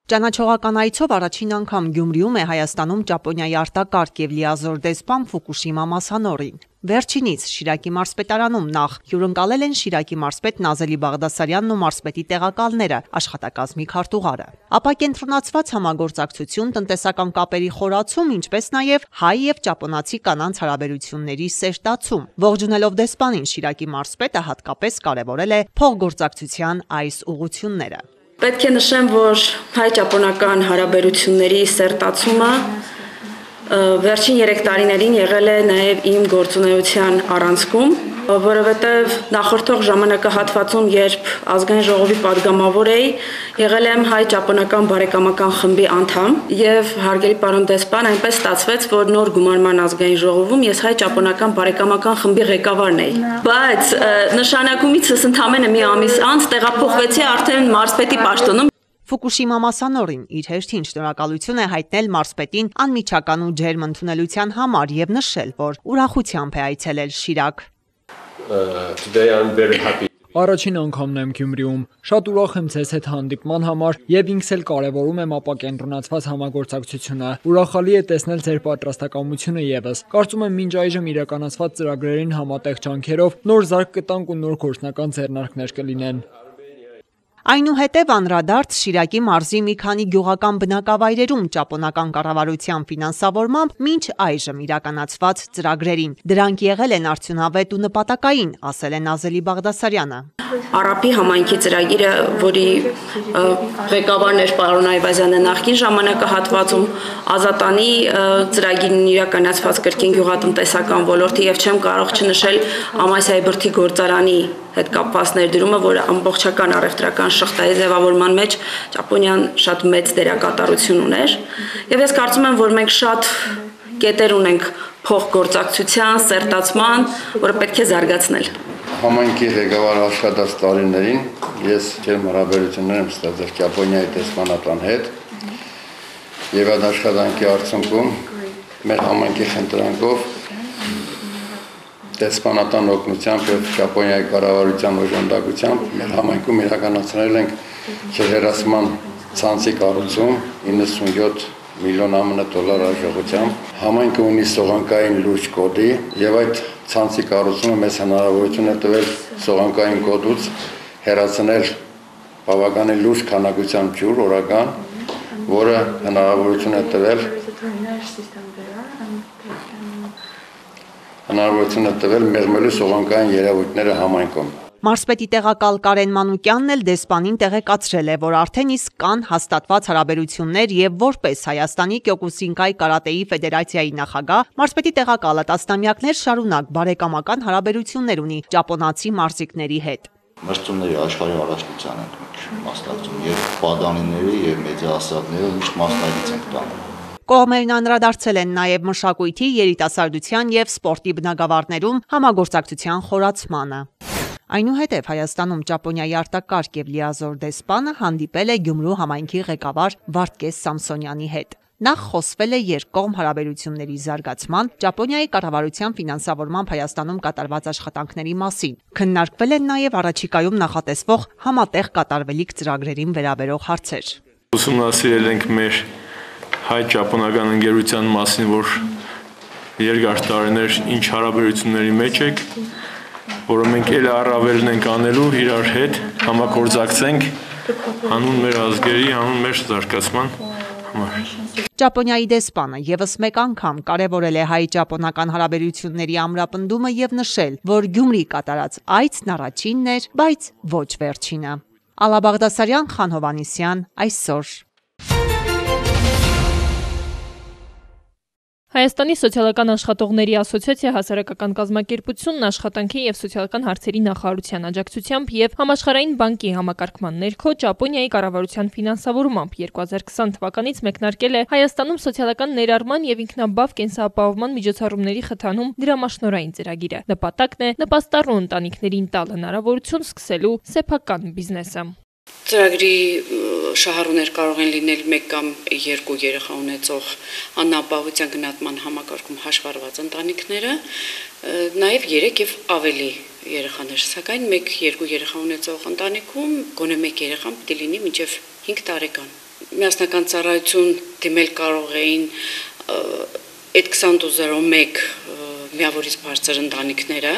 Ճանաչողական այցով առաջին անգամ Գյումրիում է Հայաստանում Ճապոնիայի արտակարգ եւ լիազոր դեսպան Ֆուկուշիմա Մասանորին։ Վերջինից Շիրակի մարզպետարանում նախ հյուրընկալել են Շիրակի մարզպետ Նազելի Բաղդասարյանն ու մարզպետի տեղակալները, աշխատակազմի քարտուղարը։ Ապա կենտրոնացված համագործակցություն, տնտեսական կապերի խորացում, ինչպես նաեւ հայ եւ ճապոնացի կանանց հարաբերությունների սերտացում։ Ողջունելով դեսպանին, Շիրակի մարզպետը հատկապես կարևորել է փոխգործակցության այս ուղղությունները։ Պետք է նշեմ, որ հայ-ճապոնական հարաբերությունների սերտացումը վերջին 3 տարիներին եղել է նաև իմ գործունեության առանցքում, որովհետև նախորդող ժամանակահատվածում, երբ ազգային ժողովի падգամավոր էի, եղել եմ հայ-ճապոնական բարեկամական խմբի անդամ եւ հարգելի պարոն դեսպան, այնպես ստացվեց, որ նոր գումարման ազգային ժողովում ես հայ-ճապոնական բարեկամական խմբի ղեկավարն էի։ Բայց նշանակումիցս ընդամենը մի ամիս անց տեղափոխվեցի արդեն մարզպետի պաշտոնում։ Ֆուկուշիմա Մասանորին իր հերթին շնորհակալություն է հայտնել մարզպետին անմիջական ու ջերմ ընդունելության համար եւ նշել, որ ուրախությամբ է այցելել Շիրակ։ Առաջին անգամն եմ Գյումրիում, շատ ուրախ եմ ձեզ հետ հանդիպման համար եւ ինքս էլ կարեւորում եմ ապակենտրոնացված համագործակցությունը։ Ուրախալի է տեսնել ձեր պատրաստակամությունը եւս։ Կարծում եմ մինչ այժմ իրականացված ծրագրերին համատեղ ջանքերով նոր զարգ կտանք ու նոր գործնական ձեռնարկներ կլինեն։ Այնուհետև անդրադարձ Շիրակի մարզի մի քանի գյուղական բնակավայրերում ճապոնական կառավարության ֆինանսավորմամբ մինչ այժմ իրականացված ծրագրերին։ Դրանք եղել են արդյունավետ ու նպատակային, ասել է Նազելի Բաղդասարյանը։ Արապի համայնքի ծրագիրը, որի ղեկավարն էր պարոն Այվազյանը նախկին ժամանակահատվածում, Ազատանի ծրագիրն իրականացված կրկին գյուղատնտեսական ոլորտի եւ չեմ կարող չնշել Ամասիայի բրդի գործարանի հետ կապված ներդրումը, որը ամբողջական առևտրական շղթայի ձևավորման մեջ Ճապոնիան շատ մեծ դերակատարություն ուներ։ Եվ ես կարծում եմ, որ մենք շատ կետեր ունենք փոխգործակցության, սերտացման, որը պետք է զարգացնել։ Համայնքի ղեկավար աշխատած տարիներին ես ջերմ հարաբերություններ եմ ստացել Ճապոնիայի դեսպանատան հետ եւ այդ աշխատանքի արդյունքում մեր համայնքի խնդրանքով դեսպանատան օգնությամբ եւ Ճապոնիայի կառավարության օժանդակությամբ մեր համայնքում իրականացրել ենք ջրհեռացման ցանցի կառուցում 97 միլիոն ԱՄՆ դոլար արժողությամբ։ Համայնքը ունի սողանքային լուրջ կոդի եւ այդ ցանցի կառուցումը մեզ հնարավորություն է տվել սողանքային կոդուց հեռացնել բավականին լուրջ քանակությամբ ջուր օրական, որը հնարավորություն է տվել մեղմելու սողանքային երևույթները համայնքում։ Մարզպետի տեղակալ Կարեն Մանուկյանն էլ դեսպանին տեղեկացրել է, որ արդեն իսկ կան հաստատված հարաբերություններ եւ որպես Հայաստանի Կյոկուսինկայ կարատեի ֆեդերացիայի նախագահ, մարզպետի տեղակալը տասնամյակներ շարունակ բարեկամական հարաբերություններ ունի ճապոնացի մարզիկների հետ։ Մրցումների աշխարհի առաջնության ենք մասնակցում եւ պատանիների եւ մեծահասակների միշտ մասնակից ենք տանում։ Կողմերն անդրադարձել են նաև մշակույթի, երիտասարդության եւ սպորտի բնագավառներում համագործակցության խորացմանը։ Այնուհետև Հայաստանում Ճապոնիայի արտակարգ եւ լիազոր դեսպանը հանդիպել է Գյումրու համայնքի ղեկավար Վարդգես Սամսոնյանի հետ։ Նախ խոսվել է երկկողմ հարաբերությունների զարգացման, Ճապոնիայի կառավարության ֆինանսավորմամբ Հայաստանում կատարված աշխատանքների մասին։ Քննարկվել են նաև առաջիկայում նախատեսվող համատեղ կատարվելիք ծրագրերին վերաբերող հարցեր։ Ուսումնասիրել ենք մեր հայ-ճապոնական ընկերության մասին, որ երկար տարիներ ինչ հարաբերությունների մեջ եք, որը մենք էլ առավելն ենք անելու իրար հետ, համագործակցենք հանուն մեր ազգերի, հանուն մեր զարգացման համար։ Ճապոնիայի դեսպանը եւս մեկ անգամ կարևորել է հայ-ճապոնական հարաբերությունների ամրապնդումը եւ նշել, որ Գյումրի կատարած այցն առաջինն էր, բայց ոչ վերջինը։ Ալա Բաղդասարյան, Խան Հովհաննիսյան, այսօր։ Հայաստանի սոցիալական աշխատողների ասոցիացիա հասարակական կազմակերպությունն աշխատանքի եւ սոցիալական հարցերի նախարարության աջակցությամբ եւ Համաշխարհային բանկի համակարգման ներքո Ճապոնիայի կառավարության ֆինանսավորմամբ 2020 թվականից մեկնարկել է Հայաստանում սոցիալական ներառման եւ ինքնաբավ կենսապահովման միջոցառումների խթանում դրամաշնորհային ծրագիրը։ Նպատակն է նպաստառու ընտանիքներին տալ հնարավորություն սկսելու սեփական բիզնեսը։ Ծրագրի շահառուներ կարող են լինել 1 կամ 2 երեխա ունեցող անապահովության գնահատման համակարգում հաշվառված ընտանիքները, նաև 3 եւ ավելի երեխաներ, սակայն 1-2 երեխա ունեցող ընտանիքում գոնե 1 երեխան պետք է լինի մինչև 5 տարեկան։ միասնական ծառայություն դիմել կարող էին այդ 2201 միավորից բարձր ընտանիքները։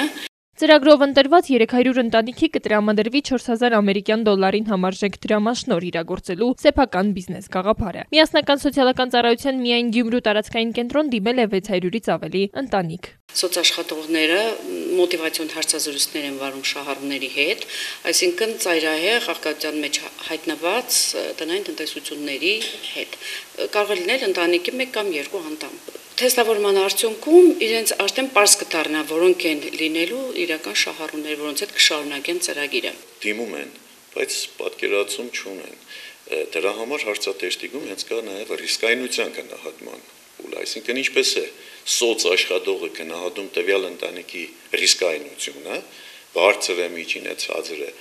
Ծրագրով ընտրված 300 ընտանիքի կտրամադրվի 4000 ամերիկյան դոլարին համարժեք դրամաշնոր իրագործելու սեփական բիզնես գաղափարը։ Միասնական սոցիալական ծառայության միայն Գյումրու տարածքային կենտրոն դիմել է 600-ից ավելի ընտանիք։ Սոցաշխատողները մոտիվացիոն հարցազրույցներ են վարում շահառուների հետ, այսինքն ծայրահեղ աղքատության մեջ հայտնված տնային տնտեսությունների հետ։ Կարող է լինել ընտանիքի 1 կամ 2 անդամ։ Թեստավորման արդյունքում իրենց արդեն պարզ կդառնա, որոնք են լինելու իրական շահառուներ, որոնց հետ կշարունակեն ծրագիրը։ Դիմում են, բայց պատկերացում չունեն։ Դրա համար հարցատեշտիկում հենց կա նաև ռիսկայնության գնահատման փուլ, այսինքն ինչպես է սոցաշխատողը գնահատում տվյալ ընտանիքի ռիսկայնությունը, բարձր է, միջին է, ցածր է,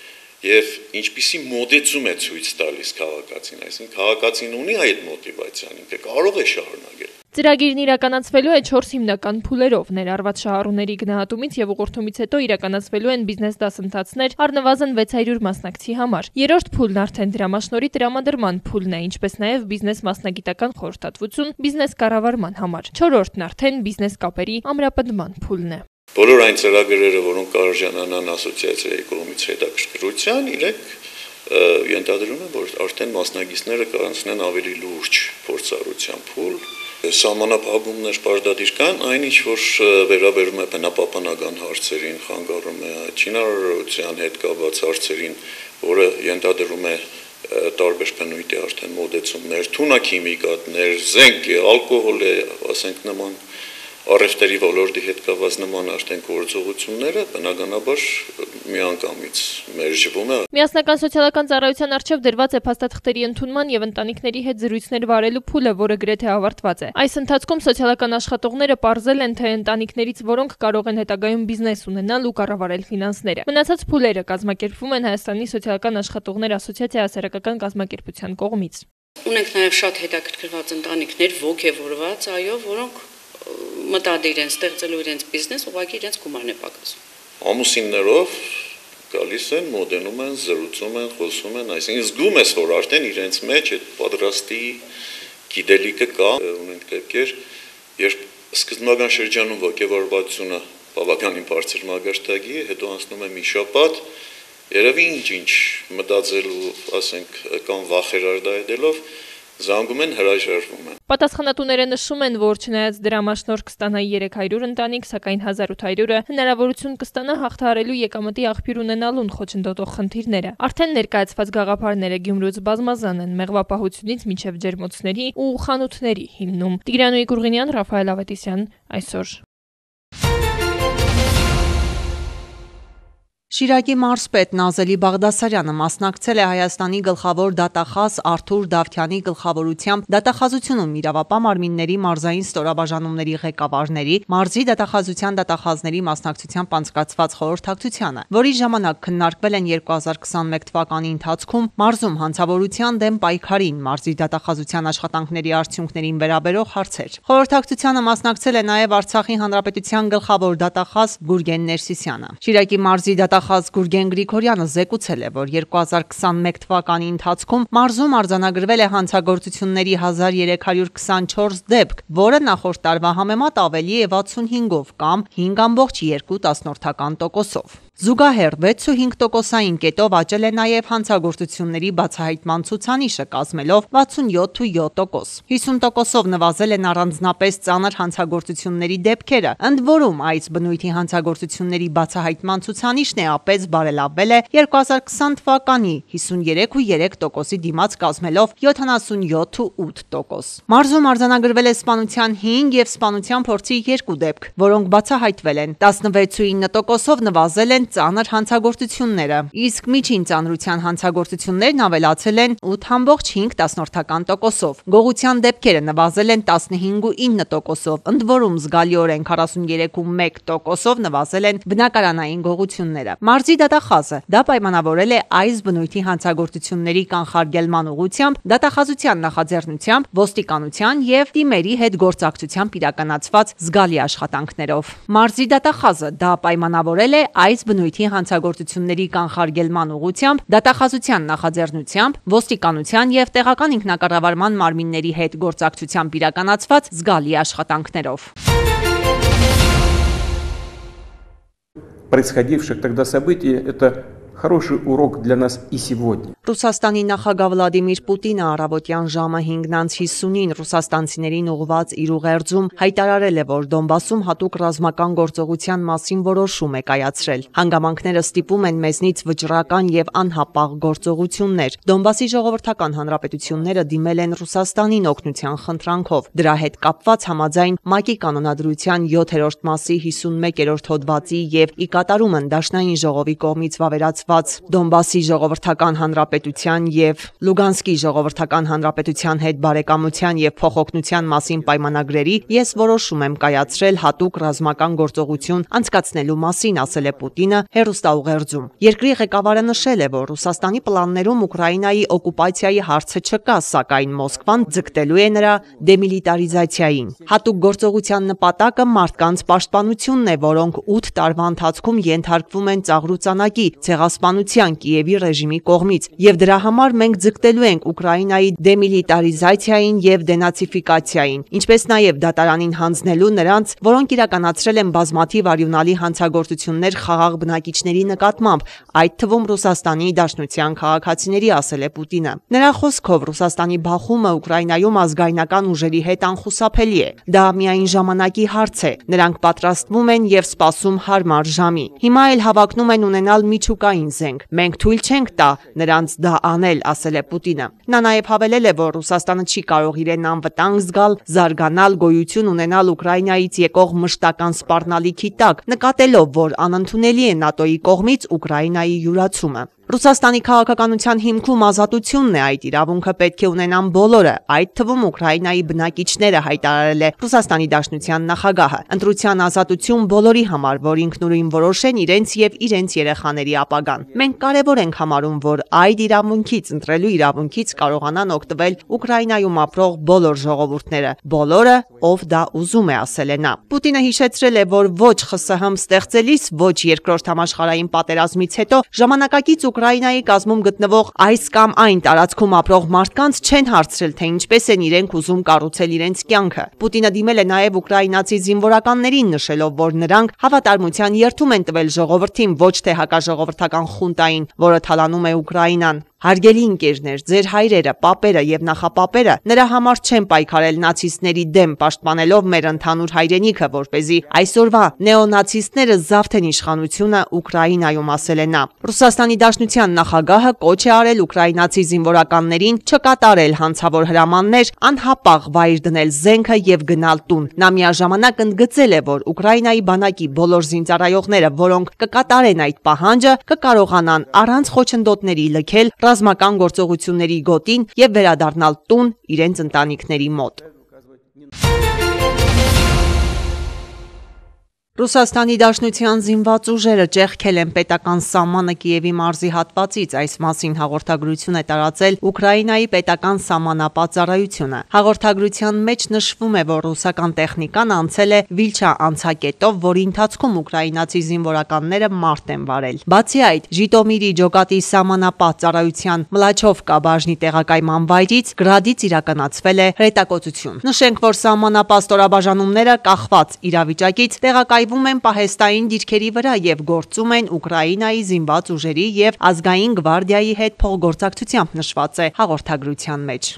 եւ ինչպիսի մոտեցում է ցույց տալիս քաղաքացին, այսինքն քաղաքացին ունի այդ մոտիվացիան, ինքը կարող է շարունակել։ Ծրագիրն իրականացվելու է 4 հիմնական փուլերով, ներառված շահառուների գնահատումից եւ ուղղորդումից հետո իրականացվելու են բիզնես դասընթացներ առնվազն 600 մասնակցի համար։ Երրորդ փուլն արդեն դրամաշնորհի տրամադրման փուլն է, ինչպես նաեւ բիզնես մասնագիտական խորհրդատվություն բիզնես կառավարման համար։ Չորրորդն արդեն բիզնես կապերի ամրապնդման փուլն է։ Բոլոր այն ծրագրերը, որոնք կարժանանան ասոցիացիայի կողմից հետաքրքրության, իրենք ենթադրում են, որ արդեն մասնագետները կանցնեն ավելի լուրջ փորձառության փուլ։ Սահմանափակումներ պարտադիր կան, այն ինչ որ վերաբերում է բնապահպանական հարցերին, խանգարում է շինարարության հետ կապված հարցերին, որը ենթադրում է տարբեր բնույթի արդեն մոտեցումներ, թունաքիմիկատներ, զենք, ալկոհոլ, ասենք նման առևտրի ոլորտի հետ կապված նման արդեն գործողությունները բնականաբար միանգամից մերժվում է։ Միասնական սոցիալական ծառայության արչև դրված է փաստաթղթերի ընդունման եւ ընտանիքների հետ զրույցներ վարելու փուլը, որը գրեթե ավարտված է։ Այս ընթացքում սոցիալական աշխատողները պարզել են, թե ընտանիքներից որոնք կարող են հետագայում բիզնես ունենալ ու կառավարել ֆինանսները։ Մնացած փուլերը կազմակերպվում են Հայաստանի սոցիալական աշխատողներ ասոցիացիայի հասարակական կազմակերպության կողմից։ Ունենք նաեւ շատ հետաքրքրված ընտանիքներ, ոգևորված, այո, որոնք մտադիր են ստեղծելու իրենց բիզնես, ուղղակի իրենց գումարն է պակասում։ Ամուսիններով գալիս են, մոտենում են, զրուցում են, խոսում են, այսինքն զգում ես, որ արդեն իրենց մեջ այդ պատրաստի գիտելիքը կա, ունենք դեպքեր, երբ սկզբնական շրջանում ոգևորվածությունը բավականին բարձր մակարդակի է, հետո անցնում է մի շաբաթ, երևի ինչ մտածելու, ասենք, կամ վախեր արտահայտելով զանգում են, հրաժարվում են։ Պատասխանատուները նշում են, որ չնայած դրամաշնորհ կստանա 300 ընտանիք, սակայն 1800-ը հնարավորություն կստանա հաղթահարելու եկամտի աղբյուր ունենալուն խոչընդոտող խնդիրները։ Արդեն ներկայացված գաղափարները Գյումրուց բազմազան են, մեղվապահությունից մինչև ջերմոցների ու խանութների հիմնում։ Տիգրանուհի Գուրգինյան, Ռաֆայել Ավետիսյան, այսօր։ Շիրակի մարզպետ Նազելի Բաղդասարյանը մասնակցել է Հայաստանի գլխավոր դատախազ Արթուր Դավթյանի գլխավորությամբ դատախազությունում իրավապահ մարմինների մարզային ստորաբաժանումների ղեկավարների, մարզի դատախազության դատախազների մասնակցությամբ անցկացված խորհրդակցությանը, որի ժամանակ քննարկվել են 2021 թվականի ընթացքում մարզում հանցավորության դեմ պայքարին, մարզի դատախազության աշխատանքների արդյունքներին վերաբերող հարցեր։ Խորհրդակցությանը մասնակցել է նաև Արցախի Հանրապետության գլխավոր դատախազ Գուրգեն Ներսիսյանը։ Շիրակի մարզի դատախազ Գուրգեն Գրիգորյանը զեկուցել է, որ 2021 թվականի ընթացքում մարզում արձանագրվել է հանցագործությունների 1324 դեպք, որը նախորդ տարվա համեմատ ավելի է 65-ով կամ 5.2%-ով։ Զուգահեռ 6.5%-ային կետով աճել է նաև հանցագործությունների բացահայտման ցուցանիշը, կազմելով 67.7%։ 50%-ով նվազել են առանձնապես ծանր հանցագործությունների դեպքերը, ընդ որում այս բնույթի հանցագործությունների բացահայտման ցուցանիշն է ապես բարելավել է 2020 թվականի 53.3%-ի դիմաց, կազմելով 77.8%։ Մարզում արձանագրվել է սպանության 5 և սպանության փորձի 2 դեպք, որոնք բացահայտվել են։ 16.9%-ով նվազել են ծանր հանցագործությունները, իսկ միջին ծանրության հանցագործություններն ավելացել են 8.5%-ով։ Գողության դեպքերը նվազել են 15.9%-ով, ընդ որում զգալիորեն 43.1%-ով նվազել են բնակարանային գողությունները։ Մարզի դատախազը դա պայմանավորել է այս բնույթի հանցագործությունների կանխարգելման ուղղությամբ դատախազության նախաձեռնությամբ, ոստիկանության և թիմերի հետ գործակցությամբ իրականացված զգալի աշխատանքներով։ Մարզի դատախազը դա պայմանավորել է այս բնույթի հանցագործությունների կանխարգելման ուղղությամբ, դատախազության նախաձեռնությամբ, ոստիկանության եւ տեղական ինքնակառավարման մարմինների հետ գործակցությամբ իրականացված զգալի աշխատանքներով։ Происходивших тогда событий – это хороший урок для нас и сегодня. Ռուսաստանի նախագահ Վլադիմիր Պուտինը առավոտյան ժամը 5:50-ին ռուսաստանցիներին ուղղված իր ուղերձում հայտարարել է, որ Դոնբասում հատուկ ռազմական գործողության մասին որոշում է կայացրել։ Հանգամանքները ստիպում են մեզնից վճռական եւ անհապաղ գործողություններ։ Դոնբասի ժողովրդական հանրապետությունները դիմել են Ռուսաստանին օգնության խնդրանքով։ Դրա հետ կապված համաձայն ՄԱԿ-ի կանոնադրության 7-րդ մասի 51-րդ հոդվածի եւ ի կատարումն Դաշնային ժողովի կողմից վավերացված Դոնբասի ժողովրդական հանրապետության եւ Լուգանսկի ժողովրդական հանրապետության հետ բարեկամության եւ փոխօգնության մասին պայմանագրերի ես որոշում եմ կայացրել հատուկ ռազմական գործողություն անցկացնելու մասին, ասել է Պուտինը հեռուստաուղերձում։ Երկրի ղեկավարը նշել է, որ Ռուսաստանի պլաններում Ուկրաինայի օկուպացիայի հարցը չկա, սակայն Մոսկվան ձգտելու է նրա դեմիլիտարիզացիային։ Հատուկ գործողության նպատակը մարդկանց պաշտպանությունն է, որոնք 8 տարվա ընթացքում ենթարկվում են ծաղրուծանակի, ցեղասպանության Կիևի ռեժիմի կողմից, եւ դրա համար մենք ձգտելու ենք Ուկրաինայի դեմիլիտարիզացիային եւ դենացիֆիկացիային, ինչպես նաեւ դատարանին հանձնելու նրանց, որոնք իրականացրել են բազմաթիվ արյունալի հանցագործություններ խաղաղ բնակիչների նկատմամբ, այդ թվում Ռուսաստանի Դաշնության քաղաքացիների, ասել է Պուտինը։ Նրա խոսքով Ռուսաստանի բախումը Ուկրաինայում ազգայնական ուժերի հետ անխուսափելի է։ Դա միայն ժամանակի հարց է։ Նրանք պատրաստվում են եւ սպասում հարմար ժամի։ Հիմա էլ հավակնում են ունենալ միջուկային զենք։ Մենք թույլ չենք տա նրանց դա անել, ասել է Պուտինը։ Նա նաև հավելել է, որ Ռուսաստանը չի կարող իրեն անվտանգ զգալ, զարգանալ, գոյություն ունենալ Ուկրաինայից եկող մշտական սպառնալիքի տակ, նկատելով, որ անընդունելի է ՆԱՏՕ-ի կողմից Ուկրաինայի յուրացումը։ Ռուսաստանի քաղաքականության հիմքում ազատությունն է, այդ իրավունքը պետք է ունենան բոլորը, այդ թվում Ուկրաինայի բնակիչները, հայտարարել է Ռուսաստանի Դաշնության նախագահը։ Ընտրության ազատություն բոլորի համար, որ ինքնուրույն որոշեն իրենց եւ իրենց երեխաների ապագան։ Մենք կարևոր ենք համարում, որ այդ իրավունքից, ընտրելու իրավունքից կարողանան օգտվել Ուկրաինայում ապրող բոլոր ժողովուրդները, բոլորը, ով դա ուզում է, ասել է նա։ Պուտինը հիշեցրել է, որ ոչ ԽՍՀՄ ստեղծելիս, ոչ երկրորդ համաշխարհային պատերազմից հետո ժամանակակից Ուկրաինայի կազմում գտնվող այս կամ այն տարածքում ապրող մարդկանց չեն հարցրել, թե ինչպես են իրենք ուզում կառուցել իրենց կյանքը։ Պուտինը դիմել է նաև ուկրաինացի զինվորականներին, նշելով, որ նրանք հավատարմության երդում են տվել ժողովրդին, ոչ թե հակաժողովրդական խունտային, որը թալանում է Ուկրաինան։ Հարգելի ընկերներ, ձեր հայրերը, պապերը եւ նախապապերը նրա համար չեն պայքարել նացիստների դեմ, պաշտպանելով մեր ընդհանուր հայրենիքը, որպեսզի այսօրվա նեոնացիստները զավթեն իշխանությունը Ուկրաինայում, ասել է նա։ Ռուսաստանի Դաշնության նախագահը կոչ է արել ուկրաինացի զինվորականներին չկատարել հանցավոր հրամաններ, անհապաղ վայր դնել զենքը եւ գնալ տուն։ Նա միաժամանակ ընդգծել է, որ Ուկրաինայի բանակի բոլոր զինծառայողները, որոնք կկատարեն այդ պահանջը, կկարողանան առանց խոչընդոտների լքել ռազմական գործողությունների գոտին եւ վերադառնալ տուն իրենց ընտանիքների մոտ։ Ռուսաստանի Դաշնության զինված ուժերը ճեղքել են պետական սահմանը Կիևի մարզի հատվածից, այս մասին հաղորդագրություն է տարածել Ուկրաինայի պետական սահմանապահ ծառայությունը։ Հաղորդագրության մեջ նշվում է, որ ռուսական տեխնիկան անցել է Վիլչա անցակետով, որի ընթացքում ուկրաինացի զինվորականները մարտ են վարել։ Բացի այդ, Ժիտոմիրի Ջոկատի սահմանապահ ծառայության Մլաչովկա բաժնի տեղակայման վայրից գրադից իրականացվել է հրետակոծություն։ Նշենք, որ սահմանապահ ստորաբաժանումները կախված իրավիճակից տեղակայ են պահեստային դիրքերի վրա եւ գործում են Ուկրաինայի զինված ուժերի եւ ազգային գվարդիայի հետ փոխգործակցությամբ, նշված է հաղորդագրության մեջ։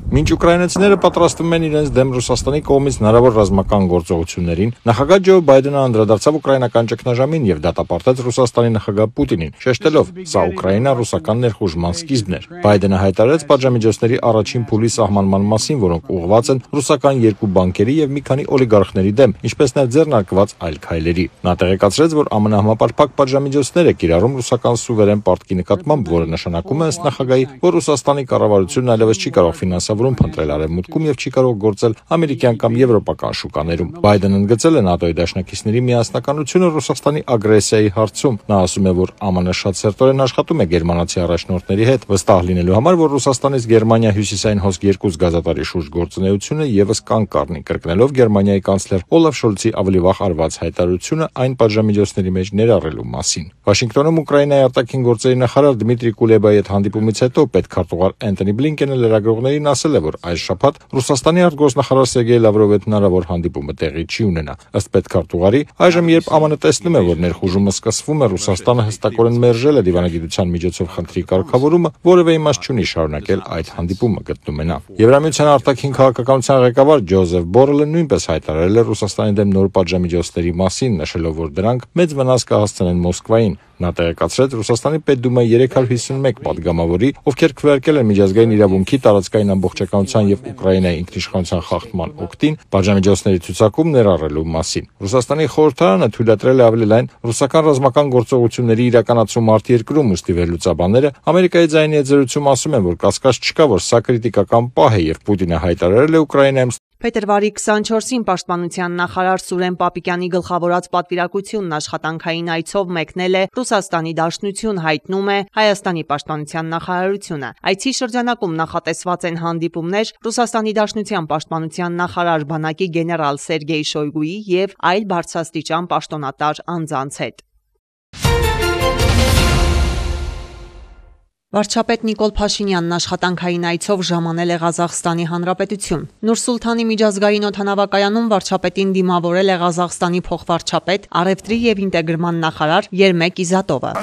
Մինչ ուկրաինացիները պատրաստվում են իրենց դեմ Ռուսաստանի կողմից հնարավոր ռազմական գործողություններին, նախագահ Ջո Բայդենը անդրադարձավ ուկրաինական ճգնաժամին եւ դատապարտեց Ռուսաստանի նախագահ Պուտինին, շեշտելով, սա Ուկրաինա-ռուսական ներխուժման սկիզբն էր։ Բայդենը հայտարարեց պատժամիջոցների առաջին փուլի սահմանման մասին, որոնք ուղղված են ռուսական երկու բանկերի եւ մի քանի օլիգարխների դեմ, ինչպես նաեւ ձեռնարկված այլ քայլերի։ Նա տեղեկացրեց, որ ԱՄՆ համապարփակ պատժամիջոցներ է կիրառում ռուսական սուվերեն պարտքի նկատմամբ, որը նշանակում է ըստ նախագահի, որ Ռուսաստանի կառավարությունն այլևս չի կարող ֆինանսավորում որոշումներում փնտրել արևմուտքում եւ չի կարող գործել ամերիկյան կամ եվրոպական շուկաներում։ Բայդենը ընդգծել է ՆԱՏՕ-ի դաշնակիցների միասնականությունը Ռուսաստանի ագրեսիայի հարցում։ Նա ասում է, որ ԱՄՆ շատ սերտորեն աշխատում է գերմանացի առաջնորդների հետ, վստահ լինելու համար, որ Ռուսաստանից Գերմանիա հյուսիսային հոսք 2 գազատարի շուրջ գործունեությունը եւս կանգ կառնի, կրկնելով Գերմանիայի կանցլեր Օլաֆ Շոլցի ավելի վաղ արված հայտարարությունը այն պատժամիջոցների մեջ ներառելու մասին։ Վաշինգտոնում Ուկրաինայի արտաքին գործերի նախարար Դմիտրի Կուլեբայի հետ հանդիպումից հետո պետքարտուղար Էնթոնի Բլինկենը լրագրողներին ասել է, որ այս շաբաթ Ռուսաստանի արտգործնախարար Սերգեյ Լավրովի հետ հնարավոր հանդիպումը տեղի չի ունենա։ Ըստ պետքարտուղարի, այժմ երբ ԱՄՆ տեսնում է, որ ներխուժումը սկսվում է, Ռուսաստանը հստակորեն մերժել է դիվանագիտության միջոցով խնդրի կարգավորումը, որևէ իմաստ չունի շարունակել այդ հանդիպումը, գտնում է նա։ Եվրամիության արտաքին քաղաքականության ղեկավար Ջոզեֆ Բորելը նույնպես հայտարարել է Ռուսաստանի դեմ նոր պատժամիջոցների մասին, նշելով, որ դրանք մեծ վնաս կհասցնեն Մոսկվային։ Նա տեղեկացրեց Ռուսաստանի Պետդումայի 351 падգամավորի, ովքեր քվեարկել են միջազգային իրավունքի, տարածքային ամբողջականության եւ Ուկրաինայի ինքնիշխանության խախտման օգտին պատժամիջոցների ցուցակում ներառելու մասին։ Ռուսաստանի խորհրդարանը թույլատրել է ավելի լայն ռուսական ռազմական գործողությունների իրականացում արտերկրում, ուստի վերլուծաբանները Ամերիկայի ձայնի եզրույցում ասում են, որ կասկած չկա, որ սա քրիտիկական պահ է եւ Պուտինը հայտարարել է Ուկրաինայում Փետրվարի 24-ին պաշտպանության նախարար Սուրեն Պապիկյանի գլխավորած պատվիրակությունն աշխատանքային այցով մեկնել է Ռուսաստանի Դաշնություն, հայտնում է Հայաստանի պաշտպանության նախարարությունը։ Այցի շրջանակում նախատեսված են հանդիպումներ Ռուսաստանի Դաշնության պաշտպանության նախարար բանակի գեներալ Սերգեյ Շոյգուի եւ այլ բարձրաստիճան պաշտոնատար անձանց հետ։ Վարչապետ Նիկոլ Փաշինյանն աշխատանքային այցով ժամանել է Ղազախստանի Հանրապետություն։ Նուր-Սուլթանի միջազգային օդանավակայանում վարչապետին դիմավորել է Ղազախստանի փոխվարչապետ, առևտրի եւ ինտեգրման նախարար Երմեք Իզատովը։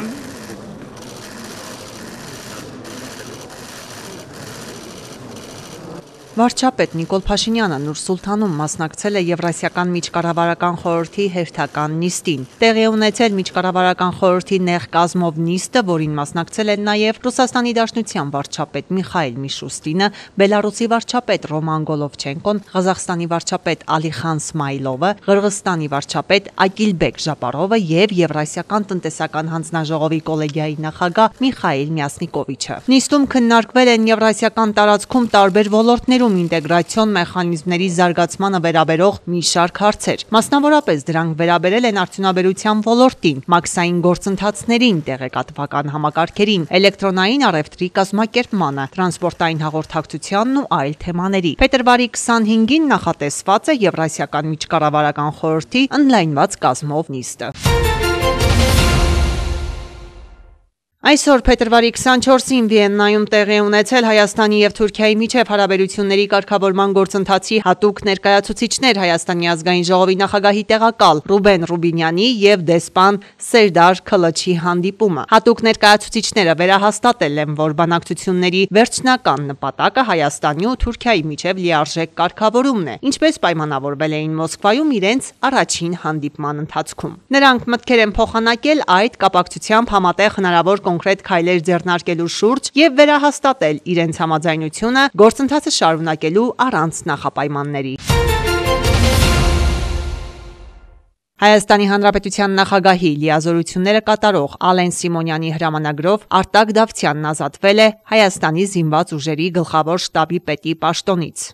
Վարչապետ Նիկոլ Փաշինյանը Նուր-Սուլթանում մասնակցել է Եվրասիական միջկառավարական խորհրդի հերթական նիստին։ Տեղի ունեցել միջկառավարական խորհրդի նեղ կազմով նիստը, որին մասնակցել են նաև Ռուսաստանի Դաշնության վարչապետ Միխայիլ Միշուստինը, Բելարուսի վարչապետ Ռոման Գոլովչենկոն, Ղազախստանի վարչապետ Ալիխան Սմայլովը, Ղրղստանի վարչապետ Ակիլբեկ Ժապարովը եւ Եվրասիական տնտեսական հանձնաժողովի կոլեգիայի նախագահ Միխայիլ Մյասնիկովիչը։ Նիստում քննարկվել են եվրասիական տարածքում տարբեր ոլորտներում ինտեգրացիոն մեխանիզմների զարգացմանը վերաբերող մի շարք հարցեր։ Մասնավորապես դրանք վերաբերել են արդյունաբերության ոլորտին, մաքսային գործընթացներին, տեղեկատվական համակարգերին, էլեկտրոնային առևտրի կազմակերպմանը, տրանսպորտային հաղորդակցությանն ու այլ թեմաների։ Փետրվարի 25-ին նախատեսված է Եվրասիական միջկառավարական խորհրդի ընդլայնված կազմով նիստը։ Այսօր փետրվարի 24-ին Վիեննայում տեղի ունեցել Հայաստանի եւ Թուրքիայի միջև հարաբերությունների կարգավորման գործընթացի հատուկ ներկայացուցիչներ Հայաստանի ազգային ժողովի նախագահի տեղակալ Ռուբեն Ռուբինյանի եւ դեսպան Սերդար Քլչի հանդիպումը։ Հատուկ ներկայացուցիչները վերահաստատել են, որ բանակցությունների վերջնական նպատակը Հայաստանի ու Թուրքիայի միջև լիարժեք կարգավորումն է, ինչպես պայմանավորվել էին Մոսկվայում իրենց առաջին հանդիպման ընթացքում։ Նրանք մտքեր են փոխանակել այդ կապակցությամբ համատեղ հնարավոր կոնկրետ քայլեր ձեռնարկելու շուրջ եւ վերահաստատել իրենց համաձայնությունը գործընթացը շարունակելու առանց նախապայմանների։ Հայաստանի Հանրապետության նախագահի լիազորությունները կատարող Ալեն Սիմոնյանի հրամանագրով Արտակ Դավթյանն ազատվել է Հայաստանի զինված ուժերի գլխավոր շտաբի պետի պաշտոնից։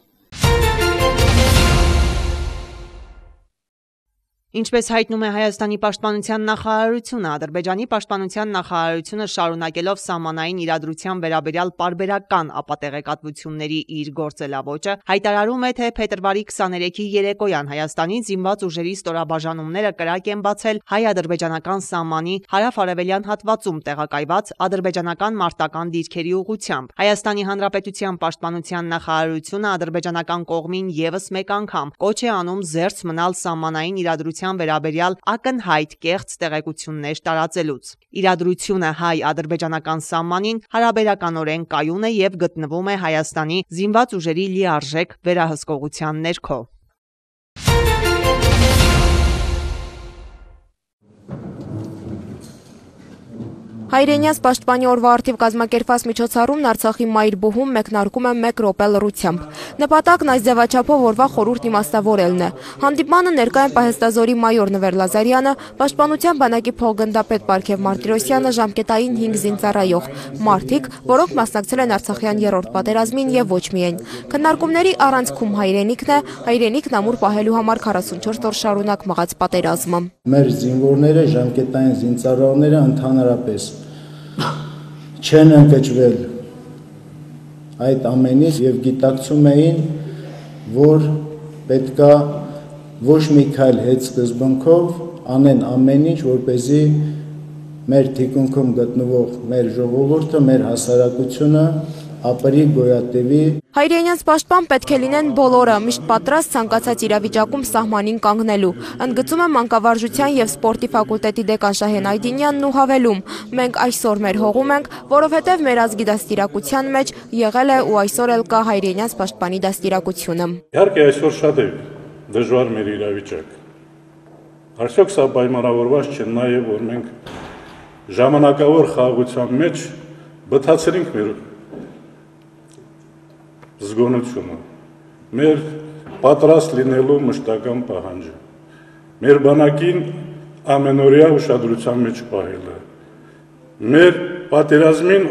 Ինչպես հայտնում է Հայաստանի պաշտպանության նախարարությունը, Ադրբեջանի պաշտպանության նախարարությունը շարունակելով սահմանային իրադրության վերաբերյալ պարբերական ապատեղեկատվությունների իր գործելավոճը, հայտարարում է, թե փետրվարի 23-ի երեկոյան Հայաստանի զինված ուժերի ստորաբաժանումները կրակ են բացել հայ-ադրբեջանական սահմանի հարավ-արևելյան հատվածում տեղակայված ադրբեջանական մարտական դիրքերի ուղղությամբ։ Հայաստանի Հանրապետության պաշտպանության նախարարությունը ադրբեջանական կողմին եւս մեկ անգամ կոչ է անում զերծ մնալ սահմանային իրադրության վերաբերյալ ակնհայտ կեղծ տեղեկություններ տարածելուց։ Իրադրությունը հայ-ադրբեջանական սահմանին հարաբերականորեն կայուն է եւ գտնվում է Հայաստանի զինված ուժերի լիարժեք վերահսկողության ներքո։ Հայրենյաց պաշտպանի օրվա առթիվ կազմակերպված միջոցառումն Արցախի Մայրբուհում մեկնարկում է 1 րոպե լռությամբ։ Նպատակն այս ձևաչափով օրվա խորհուրդ իմաստավորելն է։ Հանդիպմանը ներկա են պահեստազորի մայոր Նվեր Լազարյանը, Պաշտպանության բանակի փոխգնդապետ Պարքև Մարտիրոսյանը, ժամկետային 5 զինծառայող մարդիկ, որոնք մասնակցել են Արցախյան 3-րդ պատերազմին եւ ոչ միայն։ Քննարկումների առանցքում հայրենիքն ամուր պահելու համար 44 օր շարունակ մղած պատերազմը։ Մեր զինվորները, ժամկետային զինծառայողները ընդհանրապես չեն ընկճվել այդ ամենից եւ գիտակցում էին, որ պետքա ոչ մի քայլ հետ սկզբունքով անեն ամեն ինչ, որպեսզի մեր թիկունքում գտնվող մեր ժողովուրդը, մեր հասարակությունը ապրի գոյատևի։ Հայրենյանց պաշտպան պետք է լինեն բոլորը, միշտ պատրաստ ցանկացած իրավիճակում սահմանին կանգնելու։ Ընդգծում է մանկավարժության եւ սպորտի ֆակուլտետի դեկան Շահեն Այդինյանն ու հավելում. մենք այսօր մեր հողում ենք, որովհետեւ մեր ազգի դաստիարակության մեջ եղել է ու այսօր էլ կա հայրենյանց պաշտպանի դաստիարակությունը։ Իհարկե այսօր շատ է դժվար մեր իրավիճակ։ Արդյոք սա պայմանավորված չէ նաեւ, որ մենք ժամանակավոր խաղաղության մեջ բթացրինք մեր զգոնությունը, մեր պատրաստ լինելու մշտական պահանջը, մեր բանակին ամենօրյա ուշադրության մեջ պահելը, մեր պատերազմին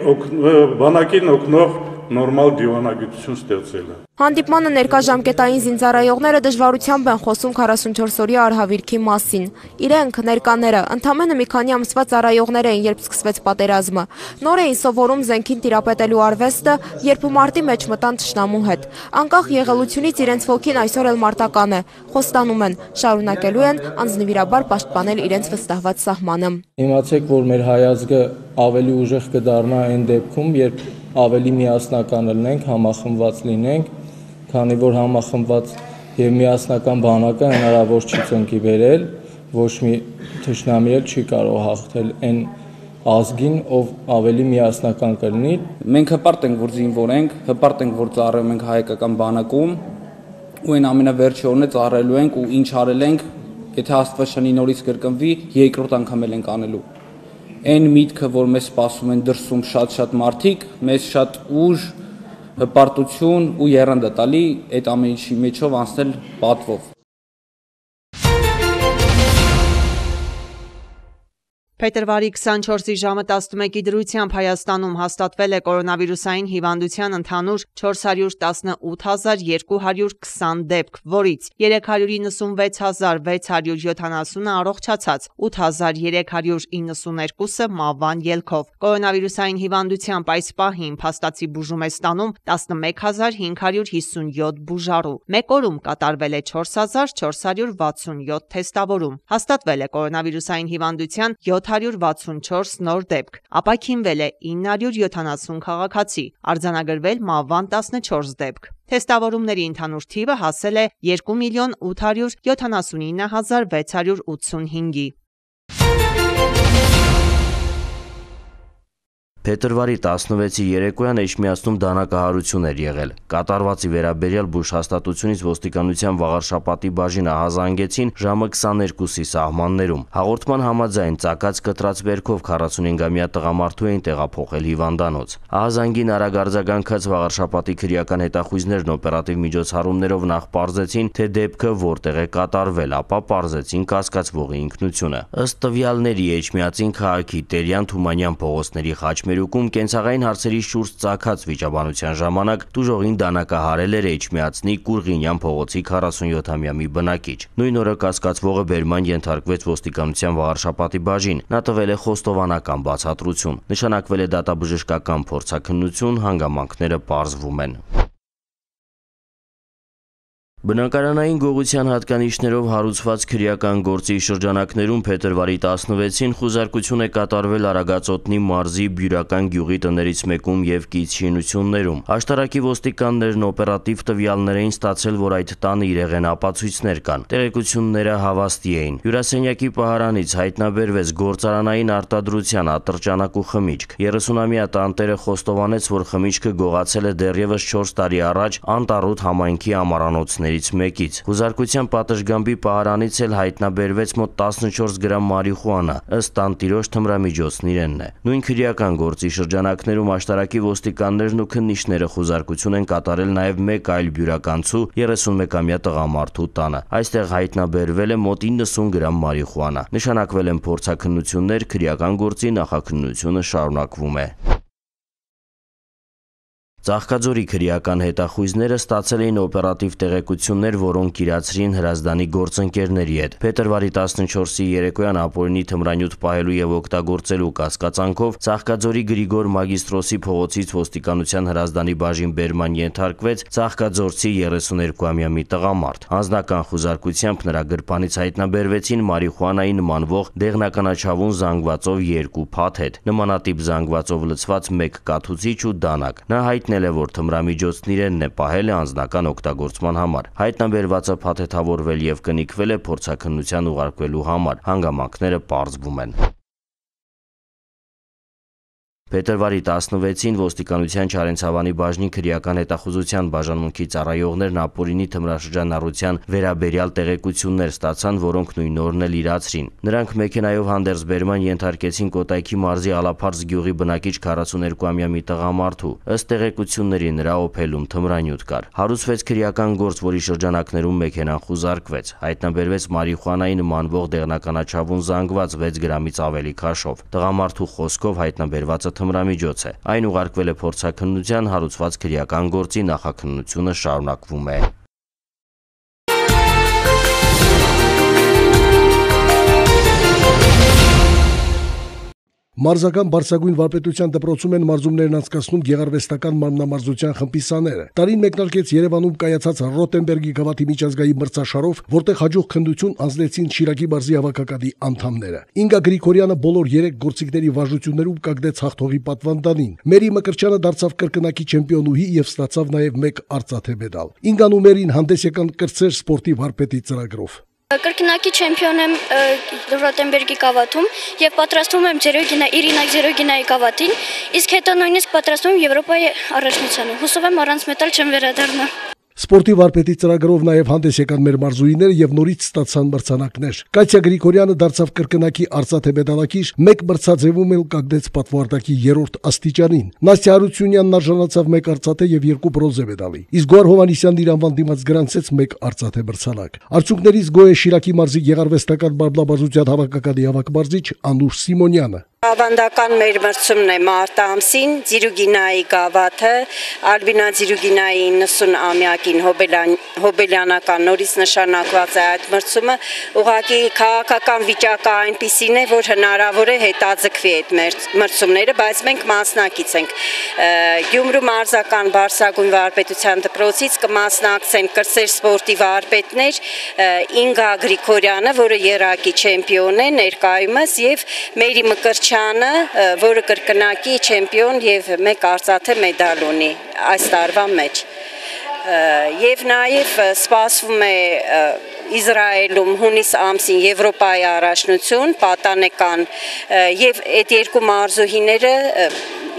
բանակին օգնող նորմալ դիվանագիտություն ստեղծելը։ Հանդիպմանը ներկա ժամկետային զինծառայողները դժվարությամբ են խոսում 44-օրյա արհավիրքի մասին։ Իրենք ներկաները ընդամենը մի քանի ամսվա ծառայողներ էին, երբ սկսվեց պատերազմը։ Նոր էին սովորում զենքին տիրապետելու արվեստը, երբ մարտի մեջ մտան թշնամու հետ։ Անկախ եղելությունից իրենց ոգին այսօր էլ մարտական է։ Խոստանում են, շարունակելու են անձնվիրաբար պաշտպանել իրենց վստահված սահմանը։ Իմացեք, որ մեր հայազգը ավելի ուժեղ կդառնա այն դեպքում, երբ ավելի միասնական լինենք, համախմբված լինենք, քանի որ համախմբված եւ միասնական բանակը հնարավոր չի ծնկի բերել, ոչ մի թշնամի էլ չի կարող հաղթել այն ազգին, ով ավելի միասնական կլինի։ Մենք հպարտ ենք, որ զինվոր ենք, հպարտ ենք, որ ծառայում ենք հայկական բանակում, ու այն ամենավերջորն ծառայելու ենք ու ինչ արել ենք, եթե Աստված շնի նորից կրկնվի, երկրորդ անգամ էլ ենք անելու։ Այն միտքը, որ մեզ սպասում են դրսում շատ մարդիկ, մեզ շատ ուժ, հպարտություն ու եռանդը տալի այդ ամեն ինչի մեջով անցնել պատվով։ Փետրվարի 24-ի ժամը 11-ի դրությամբ Հայաստանում հաստատվել է կորոնավիրուսային հիվանդության ընդհանուր 418,220 դեպք, որից 396,670-ը առողջացած, 8,392-ը մահվան ելքով։ Կորոնավիրուսային հիվանդությամբ այս պահին փաստացի բուժում է ստանում 11,557 բուժառու։ Մեկ օրում կատարվել է 4,467 թեստավորում։ Հաստատվել է կորոնավիրուսային հիվանդության 764 նոր դեպք, ապաքինվել է 970 քաղաքացի, արձանագրվել մահվան 14 դեպք։ Թեստավորումների ընդհանուր թիվը հասել է 2,879,685-ի։ Փետրվարի 16-ի երեկոյան Էջմիածնում դանակահարություն էր եղել։ Կատարվածի վերաբերյալ բուժ հաստատությունից ոստիկանության Վաղարշապատի բաժինը հազանգեցին ժամը 22-ի սահմաններում։ Հաղորդման համաձայն ծակած կտրած վերքով 45-ամյա տղամարդու էին տեղափոխել հիվանդանոց։ Ահազանգին արագ արձագանքած Վաղարշապատի քրեական հետախույզներն օպերատիվ միջոցառումներով նախ պարզեցին, թե դեպքը որտեղ է կատարվել, ապա պարզեցին կասկածվողի ինքնությունը։ Ըստ տվյալների Էջմիածին քաղաքի Տերյան Թումանյան փողոցների խաչմերուկում կենցաղային հարցերի շուրջ ծագած վիճաբանության ժամանակ տուժողին դանակահարել էր Էջմիածնի Կուրղինյան փողոցի 47-ամյա մի բնակիչ։ Նույն օրը կասկածվողը բերման ենթարկվեց ոստիկանության Վաղարշապատի բաժին։ Նա տվել է խոստովանական բացատրություն։ Նշանակվել է դատաբժշկական փորձաքննություն, հանգամանքները պարզվում են։ Բնակարանային գողության հատկանիշներով հարուցված քրեական գործի շրջանակներում փետրվարի 16-ին խուզարկություն է կատարվել Արագածոտնի մարզի Բյուրական գյուղի տներից մեկում եւ կից շինություններում։ Աշտարակի ոստիկաններն օպերատիվ տվյալներ էին ստացել, որ այդ տանը իրեղեն ապացույցներ կան։ Տեղեկությունները հավաստի էին։ Հյուրասենյակի պահարանից հայտնաբերվեց գործարանային արտադրության ատրճանակ ու խմիչք։ 30-ամյա տանտերը խոստովանեց, որ խմիչքը գողացել է դեռևս 4 տարի առաջ Անտառոտ համայնքի ամառանոցների գավաթներից մեկից։ Հուզարկության պատշգամբի պահարանից էլ հայտնաբերվեց մոտ 14 գրամ մարիխուանա, ըստ տանտիրոջ թմրամիջոցն իրենն է։ Նույն քրեական գործի շրջանակներում աշտարակի ոստիկաններն ու քննիչները խուզարկություն են կատարել նաև մեկ այլ բյուրականցու 31-ամյա տղամարդու տանը։ Այստեղ հայտնաբերվել է մոտ 90 գրամ մարիխուանա։ Նշանակվել են փորձաքննություններ, քրեական գործի նախաքննությունը շարունակվում է։ Ծաղկաձորի քրեական հետախույզները ստացել էին օպերատիվ տեղեկություններ, որոնք իրացրին Հրազդանի գործընկերների հետ։ Փետրվարի 14-ի երեկոյան ապօրինի թմրանյութ պահելու եւ օգտագործելու կասկածանքով Ծաղկաձորի Գրիգոր Մագիստրոսի փողոցից ոստիկանության Հրազդանի բաժին բերման ենթարկվեց ծաղկաձորցի 32-ամյա մի տղամարդ։ Անձնական խուզարկությամբ նրա գրպանից հայտնաբերվեցին մարիխուանայի նմանվող դեղնականաչավուն զանգվածով 2 փաթեթ, նմանատիպ զանգվածով լցված 1 կաթուցիչ ու դանակ։ Նա հայտնել է, որ թմրամիջոցն իրենն է պահել է անձնական օգտագործման համար։ Հայտնաբերվածը փաթեթավորվել եւ կնիկվել է փորձաքննության ուղարկվելու համար։ Հանգամանքները պարզվում են։ Փետրվարի 16-ին ոստիկանության Չարենցավանի բաժնի քրեական հետախուզության բաժանմունքի ծառայողներն ապօրինի թմրաշրջանառության վերաբերյալ տեղեկություններ ստացան, որոնք նույն օրն էլ իրացրին։ Նրանք մեքենայով հանդերձ բերման ենթարկեցին Կոտայքի մարզի Ալափարս գյուղի բնակիչ 42-ամյա մի տղամարդու։ Ըստ տեղեկությունների նրա օփելում թմրանյութ կար։ Հարուցվեց քրեական գործ, որի շրջանակներում մեքենան խուզարկվեց։ Հայտնաբերվեց մարիխուանայի նմանվող դեղնականաչավուն զանգված 6 գրամից ավելի քաշով։ Տղամարդու խոսքով հայտնաբերվածը թմրամիջոց է։ Այն ուղարկվել է փորձաքննության, հարուցված քրեական գործի նախաքննությունը շարունակվում է։ Մարզական բարձրագույն վարպետության դպրոցում են մարզումներն անցկացնում գեղարվեստական մարմնամարզության խմբի սաները։ Տարին մեկնարկեց Երևանում կայացած Ռոտենբերգի գավաթի միջազգային մրցաշարով, որտեղ հաջող քննություն անձնեցին Շիրակի մարզի հավաքականի անդամները։ Ինգա Գրիգորյանը բոլոր 3 գործիքների վարժություններում կանգնեց հաղթողի պատվանդանին։ Մերի Մկրտչյանը դարձավ կրկնակի չեմպիոնուհի եւ ստացավ նաեւ 1 արծաթե մեդալ։ Ինգան ու Մերին հանդես եկան կրտսեր սպորտի վարպետի ծրագրով։ Կրկնակի չեմպիոն եմ Ռոտենբերգի գավաթում եւ պատրաստվում եմ Իրինակ Զերոգինայի գավաթին, իսկ հետո նույնիսկ պատրաստվում եմ Եվրոպայի առաջնությանը։ Հուսով եմ առանց մեդալ չեմ վերադառնա։ Սպորտի վարպետի ծրագրով նաև հանդես եկան մեր մարզուհիները եւ նորից ստացան մրցանակներ։ Կատյա Գրիգորյանը դարձավ կրկնակի արծաթե մեդալակիր, 1 մրցաձևում էլ կանգնեց պատվարտակի 3-րդ աստիճանին։ Նաստյա Հարությունյանն արժանացավ 1 արծաթե եւ 2 բրոնզե մեդալի։ Իսկ Գոհար Հովհաննիսյանն իր անվան դիմաց գրանցեց 1 արծաթե մրցանակ։ Արդյունքներից գոհ է Շիրակի մարզի գեղարվեստական մարմնամարզության հավաքականի հավաքմարզիչ Անուշ Սիմոնյանը։ Ավանդական մեր մրցումն է մարտ ամսին, Ձիրուգինայի գավաթը, Ալբինա Ձիրուգինայի 90-ամյակին հոբելյանական նորից նշանակված է այդ մրցումը, ուղղակի քաղաքական վիճակը այնպիսին է, որ հնարավոր է հետաձգվի այդ մրցումները, բայց մենք մասնակից ենք։ Գյումրու մարզական բարձրագույն վարպետության դպրոցից կմասնակցեն կրտսեր սպորտի վարպետներ Ինգա Գրիգորյանը, որը եռակի չեմպիոն է ներկայումս, եւ Մերի Մկրտչյանը, որը կրկնակի չեմպիոն եւ 1 արծաթե մեդալ ունի այս տարվա մեջ։ Եվ նաեւ սպասվում է Իսրայելում հունիս ամսին Եվրոպայի առաջնություն, պատանեկան եւ այդ 2 մարզուհիները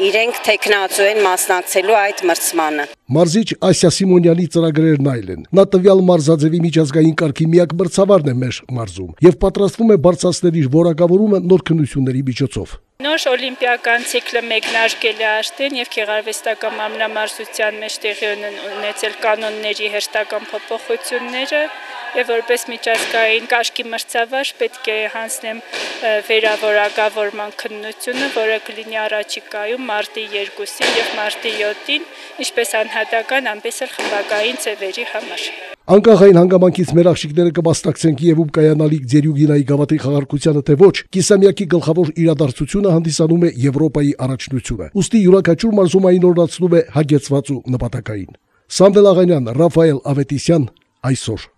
իրենք տեխնացու են մասնակցելու այդ մրցմանը։ Մարզիչ Ասիա Սիմոնյանի ծրագրերն այլ են։ Նա տվյալ մարզաձևի միջազգային կարգի միակ մրցավարն է մեր մարզում եւ պատրաստվում է բարձրացնել իր որակավորումը նոր քննությունների միջոցով։ Նոր օլիմպիական ցիկլը մեկնարկել է արդեն եւ գեղարվեստական մարմնամարզության մեջ տեղի ունեցել կանոնների հերթական փոփոխությունները եւ որպես միջազգային կարգի մրցավար պետք է հանձնեմ վերավորակավորման քննությունը, որը կլինի առաջիկայում մարտի 2-ին եւ մարտի 7-ին, ինչպես անհատական, այնպես էլ խմբակային ծևերի համար։ Անկախ այն հանգամանքից մեր աղջիկները կմասնակցեն Կիևում կայանալիք Ձերյուգինայի գավաթի խաղարկությանը թե ոչ, կիսամյակի գլխավոր իրադարձությունը հանդիսանում է Եվրոպայի առաջնությունը։ Ուստի յուրաքանչյուր մարզում այն օրացնում է հագեցված ու նպատակային։ Սամվել Աղանյան, Ռաֆայել Ավետիսյան, այսօր։